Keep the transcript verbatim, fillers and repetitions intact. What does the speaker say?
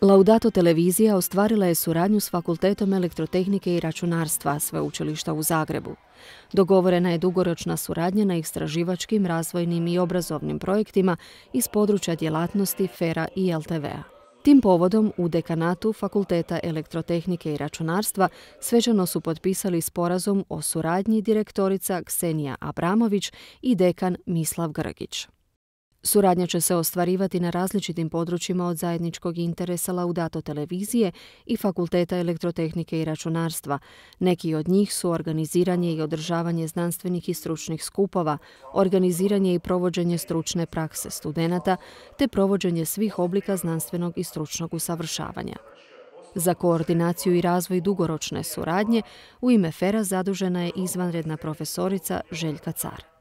Laudato televizija ostvarila je suradnju s Fakultetom elektrotehnike i računarstva Sveučilišta u Zagrebu. Dogovorena je dugoročna suradnja na istraživačkim, razvojnim i obrazovnim projektima iz područja djelatnosti F E R-a i L T V-a. Tim povodom u dekanatu Fakulteta elektrotehnike i računarstva svečano su potpisali sporazum o suradnji direktorica Ksenija Abramović i dekan Mislav Grgić. Suradnja će se ostvarivati na različitim područjima od zajedničkog interesa Laudato televizije i Fakulteta elektrotehnike i računarstva. Neki od njih su organiziranje i održavanje znanstvenih i stručnih skupova, organiziranje i provođenje stručne prakse studenata, te provođenje svih oblika znanstvenog i stručnog usavršavanja. Za koordinaciju i razvoj dugoročne suradnje u ime F E R-a zadužena je izvanredna profesorica Željka Car.